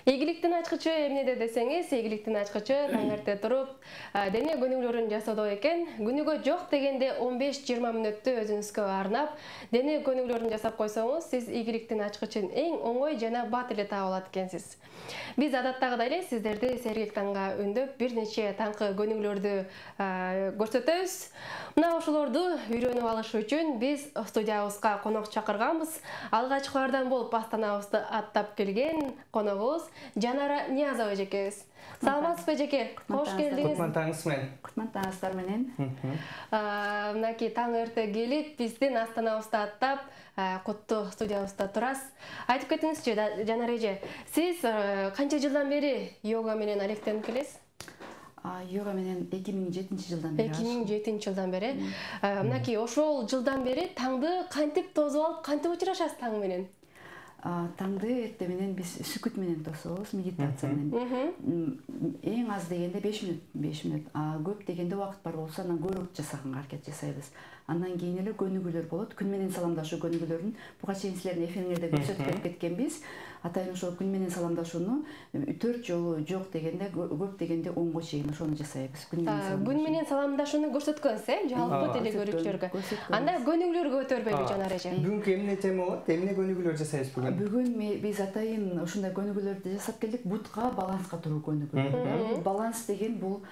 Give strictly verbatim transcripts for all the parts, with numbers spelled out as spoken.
Ийгиликтин ачкычы эмнеде десеңиз, ийгиликтин ачкычы таң эрте туруп, дене көнүгүүлөрүн жасоодо экен. Күнүгө жок дегенде он беш жыйырма мүнөттү өзүңүзгө арнап, дене көнүгүүлөрүн жасап койсоңуз, сиз ийгиликтин ачкычын эң оңой жана бат эле таап алат экенсиз. Биз адаттагыдай эле сиздерди сергек таңга үндөп, бир нече таңкы көнүгүүлөрдү көрсөтөбүз. Мына ошолорду үйрөнүп алыш үчүн биз студиябызга конок чакырганбыз. Алгачкылардан болуп астанабызды аттап келген коногубуз Жанара Ниязова эжекебиз. Саламатсызбы эжеке? Кош келдиңиз. Кутман таңыңыз менен. Кутман таңыңыздар менен. Мынакей таң эрте келип, биздин астанабызды аттап, куттуу студиябызда турасыз. Айтып кетиңизчи, Жанара эже, сиз канча жылдан бери йога менен алектенип келесиз? Йога менен эки миң жетинчи жылдан бери. эки миң жетинчи жылдан бери. Мынакей ошол жылдан бери таңды кантип тосуп алып, кантип учурашасыз таң менен? Таңды эрте менен биз сүкүт менен тособуз, медитация менен. Эң аз дегенде беш мүнөт, беш мүнөт. Көп дегенде убакыт бар болсо, анан көбүрөөк жасаганга аракет жасайбыз. Андан кийин эле көнүгүүлөр болот. Күн менен саламдашуу көнүгүүлөрүн буга чейин силердин эфириңерде көрсөтүп кеткенбиз. Атайын ошол күн менен саламдашууну төрт жолу жок дегенде, көп дегенде онго чейин ошону жасайбыз. Күн менен саламдашууну көрсөткөнсүз, э, жалпы телекөрүүчүлөргө. Анда көнүгүүлөргө өтөрбөйбү Жанара эже? Бүгүнкү эмне тема болот? Эмне көнүгүүлөр жасайбыз бүгүн? Бүгүн биз атайын ушундай көнүгүүлөрдү жасап келдик. Бутка баланска туруу көнүгүү. Баланс деген бул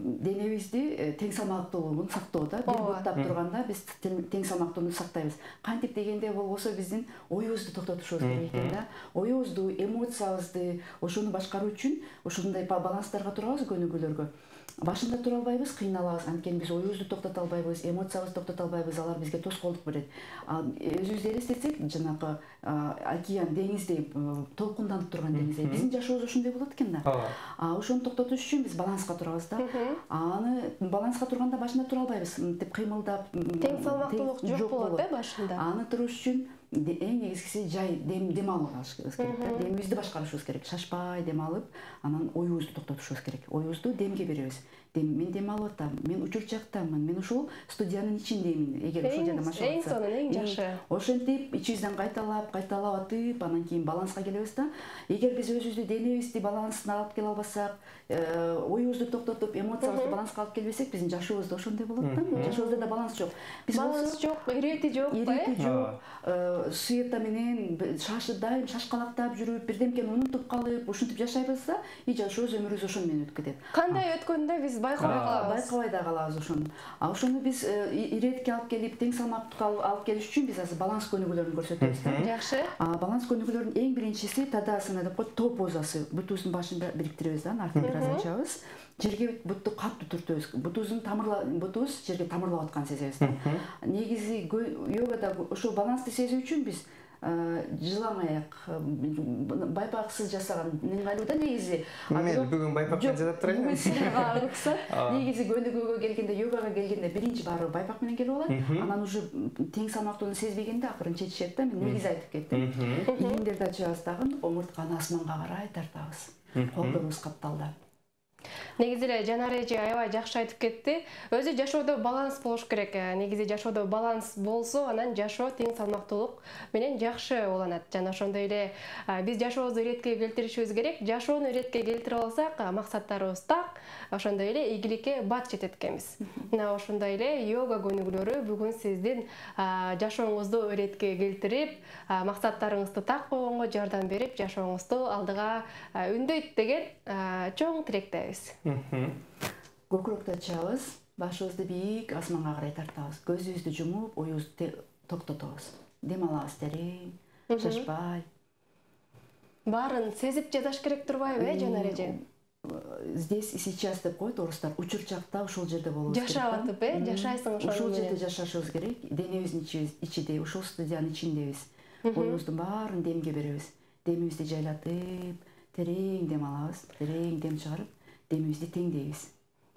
денебизди тең салмактуулугун сактоо да. Бир буттап турганда биз тең салмактуулугун сактайбыз. Кантип дегенде болбосо биздин оюбузду токтотушубуз керек экен да. Оюбузду, эмоциябызды, ошону башкаруу үчүн ушундай баланстарга турабыз көнүгүүлөргө. Башында тура албайбыз, кыйналабыз, анткени биз оюбузду токтото албайбыз, эмоциябызды токтото албайбыз, алар бизге тоскоолдук берет. Өзүбүздү элестетсек, жанагы океан, деңиздей, толкунданып турган деңиздей, биздин жашообуз ошондой болот экен да. Ошону токтотуш үчүн биз баланска турабыз да. Аны баланска турганда башында тура албайбыз, мынтип кыймылдап, тең салмактуулук жок болот э башында. Аны туруш үчүн эң негизгиси жай дем алып алышыбыз керек да. Демибизди башкарышыбыз керек. Шашпай дем алып, анан оюбузду токтотушубуз керек. Оюбузду демге беребиз. Мен дем алып атам, мен учурчактамын, мен ушул студиянын ичиндемин. Эгер ошол жерде машык эң сонун, эң жакшы. Ошентип ичибизден кайталап, кайталап атып, анан кийин баланска келебиз да. Эгер биз өзүбүздү денебизди балансына алып келе албасак, оюбузду токтотуп, эмоциябызды баланска алып келбесек, биздин жашообузда ошондой болот да. Жашообузда да баланс жок. Баланс жок, ирети жок, ирети жок. Суета менен шашы дайым шашкалактап жүрүп, бирдемкени унутуп калып, ушинтип жашайбыз да, и жашообуз өмүрүбүз ошону менен өтүп кетет. Кандай өткөндө биз байкабай калабыз. Байкабай да калабыз ошону. А ошону биз иретикке алып келип, тең салмактыкка алып келиш үчүн биз азыр баланс көнүгүүлөрүн көрсөтөбүз да. Жакшы. Баланс көнүгүүлөрүнүн эң биринчиси тадасана деп коет, тоо позасы. Бутубуздун башын бириктиребиз да, артын бир аз ачабыз. Жерге бутту катуу түртөбүз. Бутубуздун тамырлар, бутубуз жерге тамырлап атканын сезебиз да. Негизи йогада ошол балансты сезүү үчүн биз жылаң аяк, байпаксыз жасаган ыңгайлуу да негизи. Мен бүгүн байпак менен жасап турайын. Бүгүн силерге уруксат. Негизи көнүгүүгө келгенде, йогага келгенде биринчи баары байпак менен келип алат. Анан уже тең салмактуулугун сезбегенде акырын чечишет да. Мен негизи айтып кеттим. Ийиңдерди ачабыз дагы, омуртканы асманга карай тартабыз. Колдорубуз капталда. Негизи эле Жанара эже аябай жакшы айтып кетти. Өзү жашоодо баланс болуш керек. Негизи жашоодо баланс болсо, анан жашоо тең салмактуулук менен жакшы уланат. Жана ошондой эле биз жашообузду иретке келтиришибиз керек. Жашоону иретке келтире алсак, максаттарыбыз так, ошондой эле ийгиликке бат жетет экенбиз. Мына ошондой эле йога көнүгүүлөрү бүгүн сиздин жашооңузду иретке келтирип, максаттарыңызды так койгонго жардам берип, жашооңузду алдыга үндөйт деген чоң тилектебиз. Көкүрөктү ачабыз, башыбызды бийик асманга карай тартабыз. Көзүбүздү жумуп, оюбузду токтотобуз. Дем алабыз терең, шашпай. Баарын сезип жасаш керек турбайбы, э, Жанара эже? Здесь и сейчас деп коет орустар. Учурчакта ушул жерде болобуз керек. Жашап атып, э, жашайсың ошол Ушул жерде жашашыбыз керек. Денебиздин ичинде, ушул студиянын ичиндебиз. Оюбуздун баарын демге беребиз. Демибизди жайлатып, терең дем алабыз, терең дем чыгарып, демибизди теңдейбиз.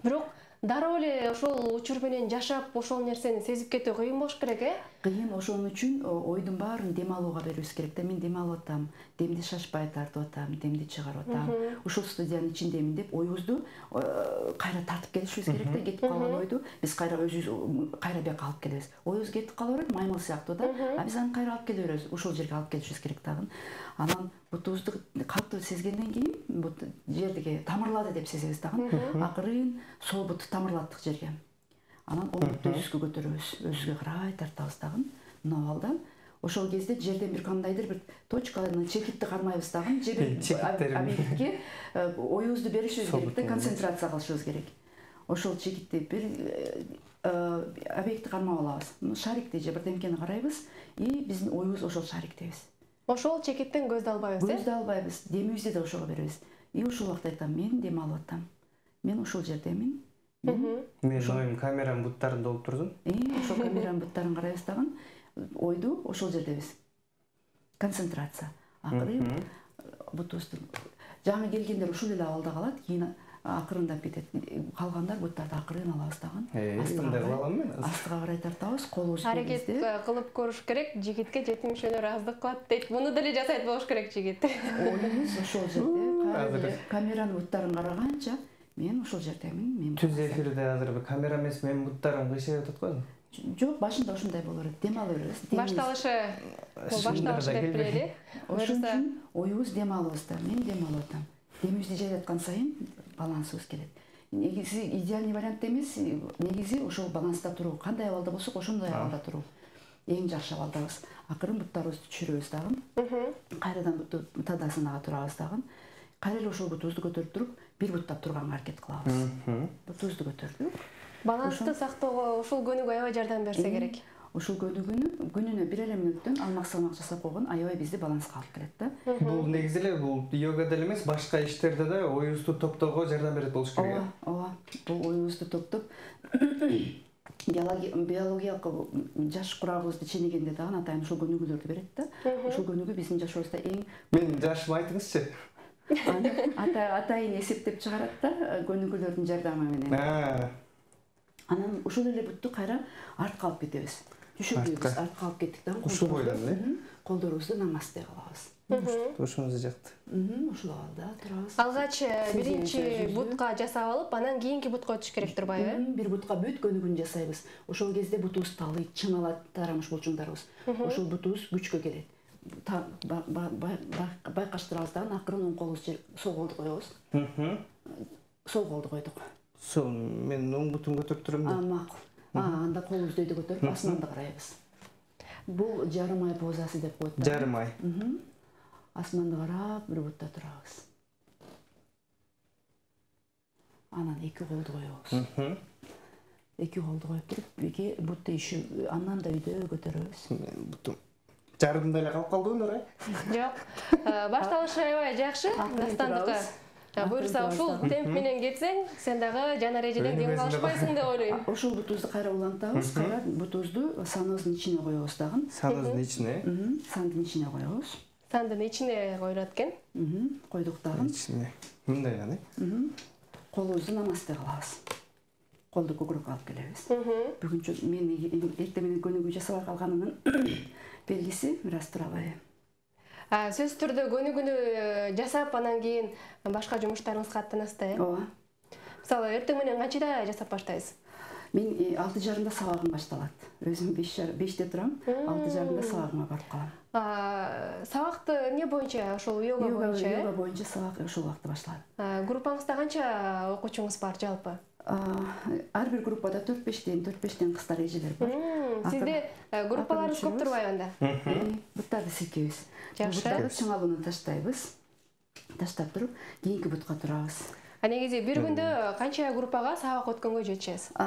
Бирок дароо эле ошол учур менен жашап, ошол нерсени сезип кетүү кыйын болуш керек, э? Кыйын, ошон үчүн ойдун баарын дем алууга берүүбүз керек да. Мен дем алып атам, демди шашпай тартып атам, демди чыгарып атам. Ушул студиянын ичиндемин деп оюбузду кайра тартып келишибиз керек да. Кетип калган ойду биз кайра өзүбүз кайра бияка алып келебиз. Оюбуз кетип кала берет, маймыл сыяктуу да. А биз аны кайра алып келе беребиз. Ушул жерге алып келишибиз керек дагы. Анан бутубузду катуу сезгенден кийин бут жердеги тамырлады деп сезебиз дагы. Акырын сол буту тамырлаттык жерге. Анан оң бутты өзүбүзгө көтөрөбүз, өзүбүзгө карай тартабыз дагы. Мына балда ошол кезде жерден бир кандайдыр бир точканы, чекитти кармайбыз дагы. Жерден объектке оюбузду беришибиз керек да, концентрация кылышыбыз керек. Ошол чекитти бир объектти кармап алабыз. Шарикти же бирдемкени карайбыз и биздин оюбуз ошол шариктебиз. Ошол чекиттен көздү албайбыз, э? Көздү албайбыз. Демибизди да ошого беребиз. И ушул убакта айтам, мен дем алып атам. Мен ушул жердемин. Мен оюм камеранын буттарын долуп турдум. Э, ошол камеранын буттарын карайбыз дагы. Ойду ошол жердебиз. Концентрация. Акырын бутубузду жаңы келгендер ушул эле абалда калат, кийин акырындап кетет. Калгандар буттарды акырын алабыз дагы. Астында кылам мен. Астыга карай тартабыз, колубуз аракет кылып көрүш керек. Жигитке жетим мүшөлөр аздык кылат дейт. Муну деле жасайт болуш керек жигит. Оюбуз ошол жерде. Камеранын буттарын караганча мен ошол жердемин. Мен түз эфирде азыр бир камера эмес, менин буттарым кыйшайып атат го. Жок, башында ушундай боло берет. Дем ала беребиз. Башталышы, башталышы деп билели. Ошон үчүн оюбуз дем алабызда. Мен дем алып атам. Демибизди жайгаткан сайын балансыбыз келет. Негизи идеальный вариант эмес, негизи ошол баланста туруу. Кандай абалда болсок, ошондой абалда туруу. Эң жакшы абалдабыз. Акырын буттарыбызды түшүрөбүз дагы. Кайрадан бутту тадасынага турабыз дагы. Кайра эле ошол бутубузду көтөрүп туруп, бир буттап турганга аракет кылабыз. Бутубузду көтөрдүк. Балансты сактоого ушул көнүгүү аябай жардам берсе керек. Ушул көнүгүүнү күнүнө бир эле мүнөттөн алмак-салмак жасап койгон аябай бизди баланска алып келет да. Бул негизи эле бул йогада эле эмес, башка иштерде да оюбузду топтоого жардам берет болуш керек. Ооба, ооба. Бул оюбузду топтоп биологиялык жаш курабыбызды ченегенде дагы атайын ушул көнүгүүлөрдү берет да. Ушул көнүгүү биздин жашообузда эң Мен жашымы айтыңызчы. Атайын эсептеп чыгарат да көнүгүүлөрдүн жардамы менен. Анан ушул эле бутту кайра артка алып кетебиз. Түшүрүбүз, артка алып кеттик да. Ушул бойдон эле. Колдорубузду намасте кылабыз. Ошоңузду жакты. Ушул абалда турабыз. Алгач биринчи бутка жасап алып, анан кийинки бутка өтүш керек турбайбы? Бир бутка бүт көнүгүүнү жасайбыз. Ошол кезде бутубуз талыйт, чыңалат тарамыш булчуңдарыбыз. Ошол бутубуз күчкө келет. Байкаштырабыз дагы, акырын оң колубузду сол колду коебуз. Сол колду койдук. Сол, мен оң бутумду көтөрүп турам да. Макул. Анда колубузду өйдө көтөрүп, асманды карайбыз. Бул жарым ай позасы деп коет. Жарым ай. Асманды карап, бир бутта турабыз. Анан эки колду коебуз. Эки колду коюп туруп, эки бутты иши, андан да өйдө көтөрөбүз. Бутум жарымда эле калып калдыбы Нурай? Жок. Башталышы аябай жакшы. Дастандыкы. Буюрса ушул темп менен кетсең, сен дагы жана эрежеден кем калышпайсың деп ойлойм. Ошол бутубузду кайра улантабыз, кайра бутубузду саныбыздын ичине коебуз дагы. Саныбыздын ичине? Сандын ичине коебуз. Сандын ичине коюлат экен. Койдук дагы. Ичине. Мындай гана. Колубузду намасте кылабыз. Колду көкүрөккө алып келебиз. Бүгүнчө мен эртең менен көнүгүү жасабай калганымдын белгиси бир аз тура алайын. Сөзсүз түрдө көнүгүүнү жасап, анан кийин башка жумуштарыңызга аттанасызда, э? Ооба. Мисалы, эртең менен канчада жасап баштайсыз? Мен алты жарымда сабагым башталат. Өзүм беште турам, алты жарымда сабагыма барып калам. Сабакты эмне боюнча, ошол йога боюнча? Йога боюнча сабак ошол убакта башталат. Группаңызда канча окуучуңуз бар жалпы? Ар бир группада төрт бештен, төрт бештен кыздар эжелер бар. Сизде группаларыңыз көп турбайбы анда? Буттарды силкейбиз. Жакшы. Буттарды чыңалууну таштайбыз. Таштап туруп, кийинки бутка турабыз. А негизи бир күндө канча группага сабак өткөнгө жетишесиз?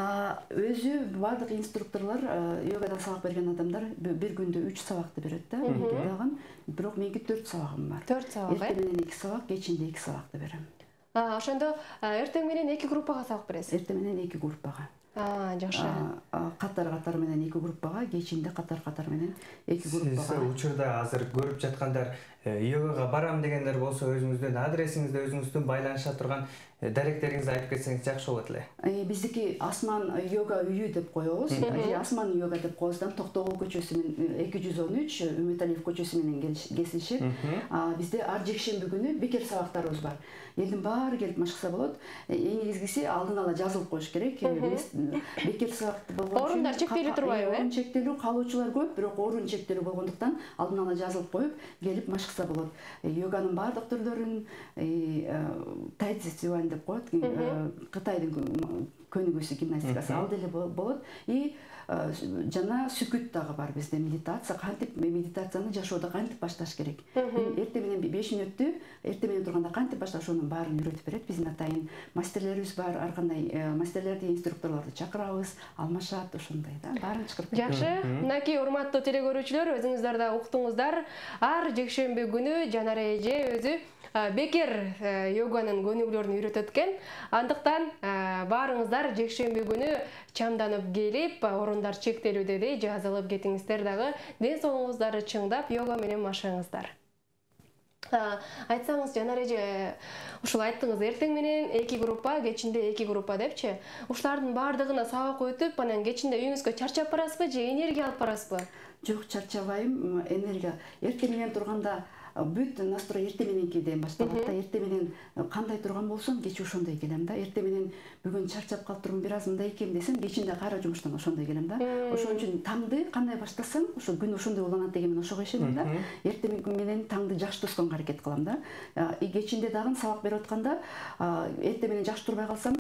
Өзү бардык инструкторлор, йогадан сабак берген адамдар бир күндө үч сабакты берет да. Дагы бирок меники төрт сабагым бар. төрт сабак, э? Эртең менен эки сабак, кечинде эки сабакты берем. Ошондо эртең менен эки группага сабак бересиз? Эртең менен эки группага. А, жакшы. Катар-катар менен эки группага, кечинде катар-катар менен эки группага. Сиз учурда азыр көрүп жаткандар йогага барам дегендер болсо, өзүңүздүн адресиңизди, өзүңүздүн байланыша турган даректериңизди айтып кетсеңиз жакшы болот эле. Биздики Асман йога үйү деп коебуз. Асман йога деп коебуздан Токтогул көчөсү менен эки жүз он үч Үмүталиев көчөсү менен кесилишет. Бизде ар жекшемби күнү бекер сабактарыбыз бар. Элдин баары келип машыкса болот. Эң негизгиси алдын ала жазылып коюш керек. Бекер сабакты болгон үчүн орундар чектелип турбайбы? Орун чектелүү, калуучулар көп, бирок орун чектелүү болгондуктан алдын ала жазылып коюп, келип машыкса болот. Йоганын баардык түрлөрүн, тайцзи цюань деп коет, Кытайдын көнүгүүсү гимнастикасы ал деле болот. И жана сүкүт дагы бар бизде, медитация. Кантип медитацияны жашоодо кантип башташ керек? Эрте менен беш мүнөттү, эрте менен турганда кантип башташ, ошонун баарын үйрөтүп берет. Биздин атайын мастерлерибиз бар, ар кандай мастерлерди, инструкторлорду чакырабыз, алмашат, ошондой да, баарын чакырып берет. Жакшы, мынакей урматтуу телегөрүүчүлөр, өзүңүздөр да уктуңуздар. Ар жекшемби күнү Жанар эже өзү бекер йоганын көнүгүүлөрүн үйрөтөт экен. Андыктан баарыңыздар жекшемби күнү чамданып келип, орундар чектелүү деди, жазылып кетиңиздер дагы. Ден соолугуңуздарды чыңдап, йога менен машыгыңыздар. Айтсаңыз, Жанар эже, ушул айттыңыз, эртең менен эки группа, кечинде эки группа депчи. Ушулардын баардыгына сабак өтүп, анан кечинде үйүңүзгө чарчап барасызбы же энергия алып барасызбы? Жок, чарчабайм, энергия. Эрте менен турганда бүт настрой эрте мененкиден башталат да. Эрте менен кандай турган болсом, кеч ошондой келем да. Эрте менен бүгүн чарчап калып турмун, бир аз мындай экем десем, кечинде кайра жумуштан ошондой келем да. Ошон үчүн таңды кандай баштасам, ошо күн ошондой уланат деген мен ошого ишенем да. Эрте менен таңды жакшы тосконго аракет кылам да. И кечинде дагы сабак берип атканда, эрте менен жакшы турбай калсам,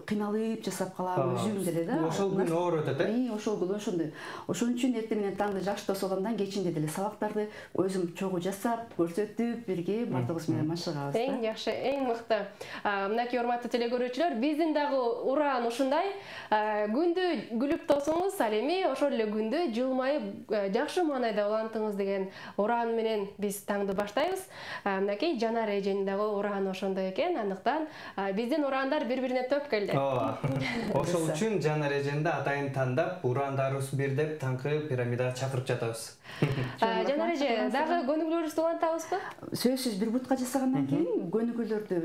кыйналып жасап калам өзүм деле да. Ошол күн оор өтөт, э? Ошол күн ошондой. Ошон үчүн эрте менен таңды жакшы тосуп аламдан, кечинде деле сабактарды өзүм чогуу жасап, көрсөтүп, бирге бардыгыбыз менен машыгабыз да. Эң жакшы, эң мыкты. Мынакей урматтуу телегөрүүчүлөр, биздин дагы ураан ушундай. Күндү күлүп тосуңуз, ал эми ошол эле күндү жылмайып, жакшы маанайда улантыңыз деген ураан менен биз таңды баштайбыз. Мынакей Жанар эженин дагы урааны ошондой экен. Андыктан биздин ураандар бири-бирине төп келди. Ошол үчүн Жанар эженди атайын тандап, ураандарыбыз бир деп таңкы пирамидага чакырып жатабыз. Жанар эже, дагы көнүгүүлөрүбүздү улантабызбы? Сөзсүз бир бутка жасагандан кийин көнүгүүлөрдү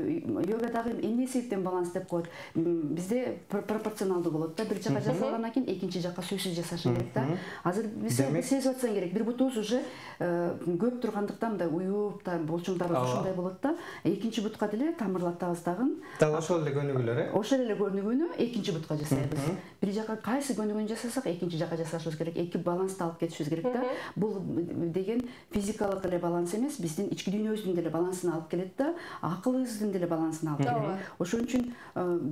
йогадагы эмне себептен баланс деп коет. Бизде пропорционалдуу болот да. Бир жака жасалгандан кийин экинчи жака сөзсүз жасаш керек да. Азыр биз сезип атсаң керек, бир бутубуз уже көп тургандыктан мындай уюп, болчоңдарыбыз ушундай болот да. Экинчи бутка деле тамырлатабыз дагы. Дагы ошол эле көнүгүүлөр, э? Ошол эле көнүгүүнү экинчи бутка жасайбыз. Бир жака кайсы көнүгүүнү жасасак, экинчи жака жасашыбыз керек. Эки балансты алып кетишибиз керек да. Бул деген физикалык эле баланс эмес, биздин ички дүйнөбүздүн деле балансын алып келет да, акылыбыздын деле балансын алып келет. Ошон үчүн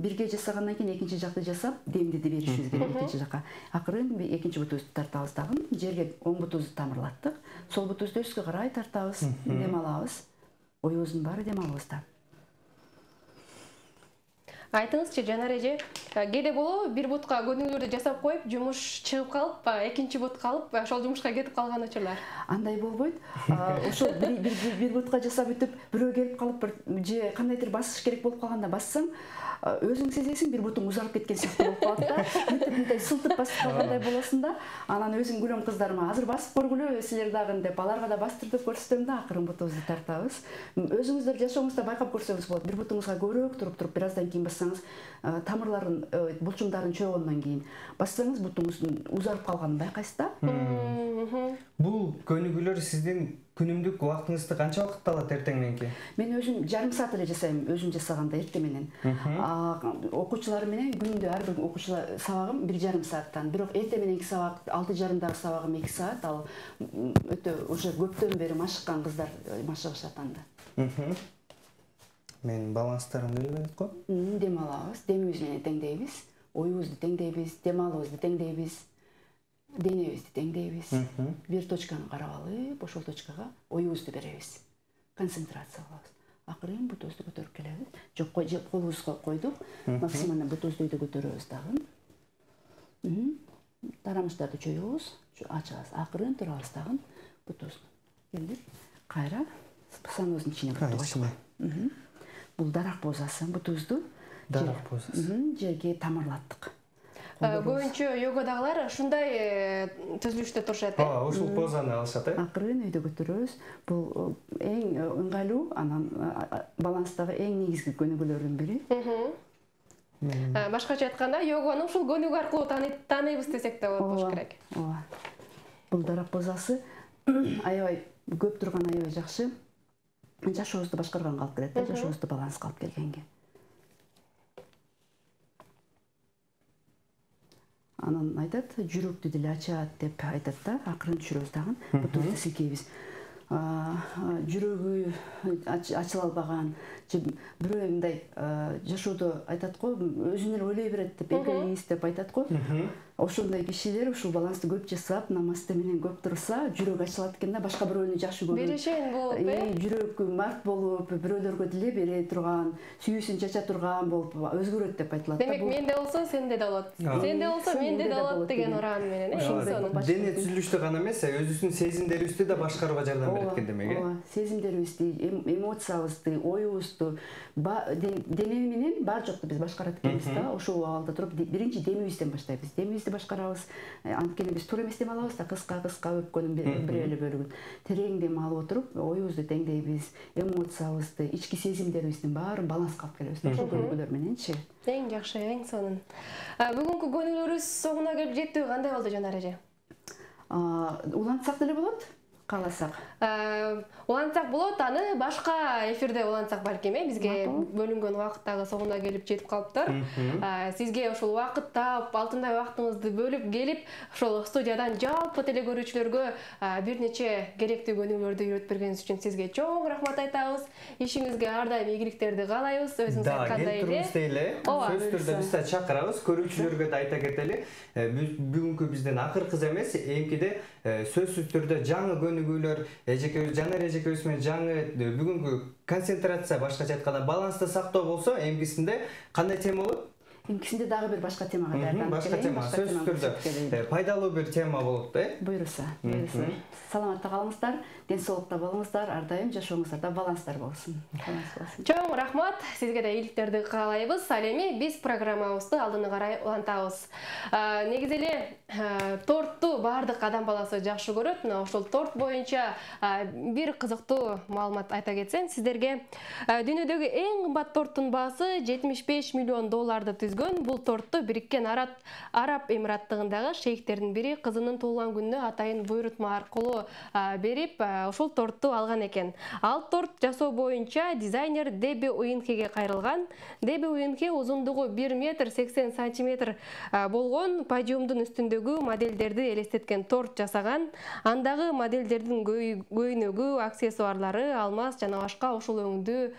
бирге жасагандан кийин экинчи жакты жасап, демдеди беришибиз керек экинчи жака. Акырын экинчи бутубузду тартабыз дагы. Жерге оң бутубузду тамырлаттык, сол бутубузду өскө карай тартабыз, дем алабыз. Оюбуздун баары дем алабызда. Айтыңызчы, Жанар эже, кээде болобу бир бутка көнүгүүлөрдү жасап коюп, жумуш чыгып калып, экинчи бутка алып, ошол жумушка кетип калган учурлар? Андай болбойт. Ошол бир бутка жасап өтүп, бирөө келип калып, же кандайдыр басыш керек болуп калганда бассаң, өзүң сезесиң, бир бутуң узарып кеткен сыяктуу болуп калат да. Мындай сылтып басып калгандай болосуң да. Анан өзүм күлөм кыздарыма, азыр басып көргүлө силер дагы деп, аларга да бастыртып көрсөтөм да, акырын бутубузду тартабыз. Өзүңүздөр жашооңузда байкап көрсөңүз болот. Бир бутуңузга көбүрөөк туруп туруп, бир аздан кийин бассаңыз, тамырларын, булчуңдарын чөгөнгөндөн кийин бассаңыз, бутуңуздун узарып калганын байкайсыз да. Бул көнүгүүлөр сиздин күнүмдүк убактыңызды канча убакытта алат эртең мененки? Мен өзүм жарым саат эле жасайм, өзүм жасаганда эрте менен. Окуучулар менен күндө ар бир окуучулар сабагым бир жарым сааттан. Бирок эрте мененки сабак, алты жарымдагы сабагым эки саат, ал өтө уже көптөн бери машыккан кыздар машыгышат анда. Мен баланстарын билбедик го. Дем алабыз, демибиз менен теңдейбиз, оюбузду теңдейбиз, дем алуубузду теңдейбиз. Денебизди теңдейбиз. Бир точканы карап алып, ошол точкага оюбузду беребиз. Концентрация кылабыз. Акырын бутубузду көтөрүп келебиз. Жок, колубузга койдук. Максималдуу бутубузду өйдө көтөрөбүз дагы. Тарамыштарды чоюбуз, ачабыз. Акырын турабыз дагы. Бутубузду келип, кайра саныбыздын ичине бутубузду. Бул дарак позасы. Бутубузду дарак позасы. Жерге тамырлаттык. Көбүнчө йоgadagылар ушундай түзүлүштө турушат. Ооба, ушул позаны алышат, э? Акырын өйдө көтөрөбүз. Бул эң ыңгайлуу, анан баланстагы эң негизги көнүгүүлөрдүн бири. Башкача айтканда, йоганы ушул көнүгүү аркылуу тааныйбыз десек да болот болуш керек. Ооба. Бул дарак позасы аябай көп турган аябай жакшы. Жашообузду башкарганга алып келет, жашообузду баланска алып келгенге. Анан айтат, жүрөктү деле ачат деп айтат да, акырын түшүрөбүз дагы, бутубузду силкейбиз. Жүрөгү ачыла албаган, бирөө мындай жашоодо айтат го, өзүн эле ойлой берет деп, эгоист деп айтат го. Ошондой кишилер ушул балансты көп жасап, намазды менен көп турса, жүрөк ачылат экен да, башка бирөөнү жакшы көрүп. Берешен болуп, э? Жүрөк март болуп, бирөөлөргө деле бере турган, сүйүүсүн чача турган болуп өзгөрөт деп айтылат да. Демек, менде болсо сенде да болот. Сенде болсо менде да болот деген уран менен, э? Дене түзүлүштү гана эмес, өзүбүздүн сезимдерибизди да башкарууга жардам берет экен демек, э? Сезимдерибизди, эмоциябызды, оюбузду, дене менен бар жокту биз башкарат экенбиз да. Ошол абалда туруп биринчи демибизден баштайбыз. Демибизди башкарабыз. Анткени биз туура эмес дем алабыз да, кыска-кыска өпкөнүн бир эле бөлүгүн. Терең дем алып отуруп, оюбузду теңдейбиз, эмоциябызды, ички сезимдерибиздин баарын баланска алып келебиз. Ошол көнүгүүлөр мененчи. Эң жакшы, эң сонун. Бүгүнкү көнүгүүлөрүбүз соңуна келип жеттиби, кандай болду Жанар эже? Улантсак деле болот. Кааласак. Улантсак болот, аны башка эфирде улантсак балким, э, бизге бөлүнгөн убакыттагы соңуна келип жетип калыптыр. Сизге ошол убакыт таап, алтындай убактыңызды бөлүп келип, ошол студиядан жалпы телекөрүүчүлөргө бир нече керектүү көнүгүүлөрдү үйрөтүп бергениңиз үчүн сизге чоң рахмат айтабыз. Ишиңизге ар дайым ийгиликтерди каалайбыз. Өзүңүз айткандай эле. Да, келип сөзсүз түрдө биз да чакырабыз. Көрүүчүлөргө да айта кетели. Бүгүнкү бизден акыркы эмес, эмкиде сөзсүз түрдө жаңы көнүгүүлөр, эжекебиз Жанар эжекебиз менен жаңы бүгүнкү концентрация, башкача айтканда балансты сактоо болсо, эмкисинде кандай тема болот? Эмкисинде дагы бир башка темага даярданып келем. Башка тема, сөзсүз түрдө пайдалуу бир тема болот, э? Буйруса, буйруса. Саламатта калыңыздар, ден соолукта болуңуздар, ар дайым жашооңуздарда баланстар болсун. Чоң рахмат, сизге да ийгиликтерди каалайбыз. Ал эми биз программабызды алдыны карай улантабыз. Негизи эле тортду баардык адам баласы жакшы көрөт. Мына ошол торт боюнча бир кызыктуу маалымат айта кетсем сиздерге. Дүйнөдөгү эң кымбат торттун баасы жетимиш беш миллион долларды түзгөн. Бул тортду Бириккен Араб Эмираттыгындагы шейхтердин бири кызынын туулган күнүнө атайын буйрутма аркылуу берип, ошол тортду алган экен. Ал торт жасоо боюнча дизайнер Деби Уинхеге кайрылган. Деби Уинхе узундугу бир метр сексен сантиметр болгон подиумдун үстүндөгү модельдерди элестеткен торт жасаган. Андагы модельдердин көйнөгү, аксессуарлары алмаз жана башка ушул өңдүү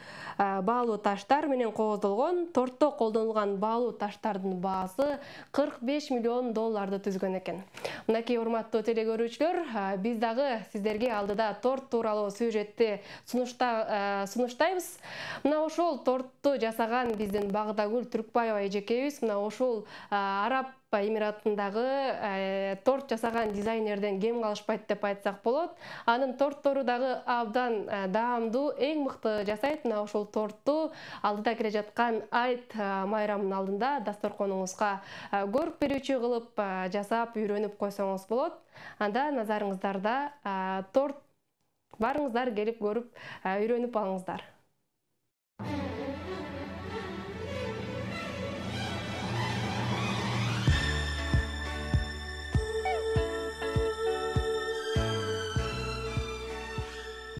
баалуу таштар менен кооздолгон. Тортто колдонулган баалуу таштардын баасы кырк беш миллион долларды түзгөн экен. Мынакей урматтуу телекөрүүчүлөр, биз дагы сиздерге алдыда торт тууралуу сюжетти сунуштайбыз. Мына ошол тортду жасаган биздин Багдагүл Түркбаева эжекебиз мына ошол Араб Эмираттындагы торт жасаган дизайнерден кем калышпайт деп айтсак болот. Анын торттору дагы абдан даамдуу, эң мыкты жасайт. Мына ошол тортду алдыда келе жаткан айт майрамынын алдында дасторконуңузга көрүп берүүчү кылып жасап үйрөнүп койсоңуз болот. Анда назарыңыздарда торт, барыңыздар келип көрүп үйрөнүп алыңыздар.